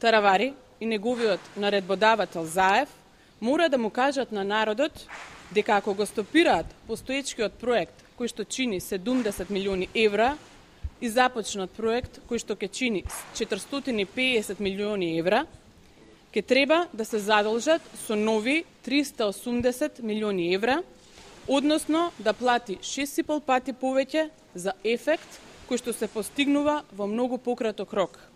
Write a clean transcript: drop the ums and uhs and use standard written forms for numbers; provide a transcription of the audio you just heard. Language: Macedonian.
Таравари и неговиот наредбодавател Заев мора да му кажат на народот дека ако го стопираат постоечкиот проект кој што чини 70 милиони евра и започнат проект кој што ќе чини 450 милиони евра, ќе треба да се задолжат со нови 380 милиони евра, односно да плати 6,5 пати повеќе за ефект кој што се постигнува во многу пократок рок.